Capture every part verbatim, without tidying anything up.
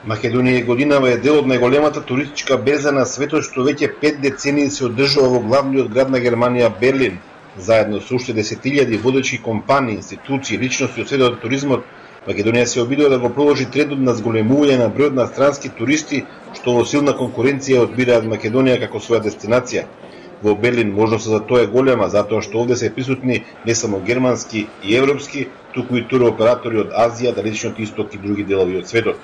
Македонија годинава е дел од најголемата туристичка берза на светот, што веќе пет децении се одржува во главниот град на Германија, Берлин. Заедно со уште десетилјади водечи компании, институции, личности од светот на туризмот, Македонија се обидува да го продолжи трендот на зголемување на бројот на странски туристи, што во силна конкуренција одбираат Македонија како своја дестинација. Во Берлин можноста за тоа е голема, затоа што овде се присутни не само германски и европски, туку и туроператори од Азија, Далечниот Исток и други делови од светот.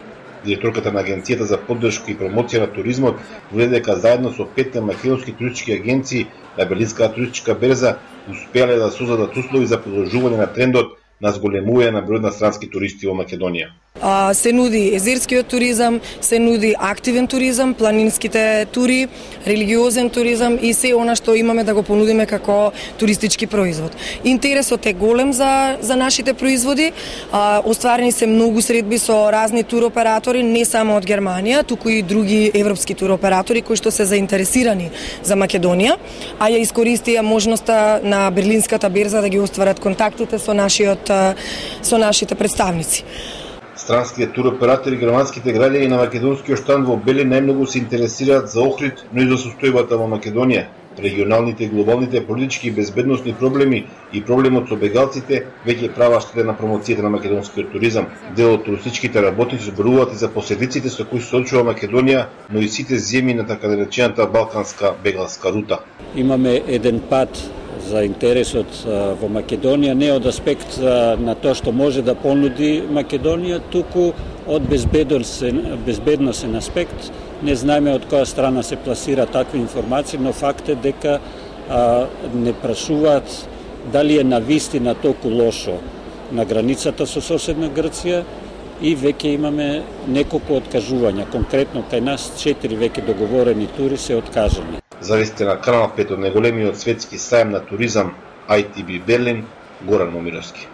Директорката на Агенцијата за поддршка и промоција на туризмот вели дека заедно со петте македонски туристички агенции на Берлинската туристичка берза успеале да создадат услови за продолжување на трендот на зголемување на бројот на странски туристи во Македонија. А, се нуди езерскиот туризам, се нуди активен туризам, планинските тури, религиозен туризам и се она што имаме да го понудиме како туристички производ. Интересот е голем за за нашите производи. А, остварени се многу средби со разни туроператори, не само од Германија, туку и други европски туроператори кои што се заинтересирани за Македонија, а ја искористија можноста на Берлинската берза да ги остварат контактите со нашиот со нашите представници. Странските туроператори, германските граѓани на македонскиот штанд во Берлин најмногу се интересираат за Охрид, но и за состојбата во Македонија, регионалните и глобалните политички и безбедносни проблеми и проблемот со бегалците веќе прават штета на промоцијата на македонскиот туризам. Дел од туристичките работници зборуваат и за последиците со кои се соочува Македонија, но и сите земји на така наречената балканска бегалска рута. Имаме еден пат за интересот во Македонија, не од аспект на тоа што може да понуди Македонија, туку од безбедносен, безбедносен аспект. Не знаеме од која страна се пласира такви информации, но факт е дека а, не прашуваат дали е навистина толку лошо на границата со соседна Грција и веќе имаме неколку откажувања. Конкретно кај нас четири веќе договорени тури се откажани. Зависите на Канал пет од најголемиот светски сајм на туризам ай ти би Берлин, Горан Момировски.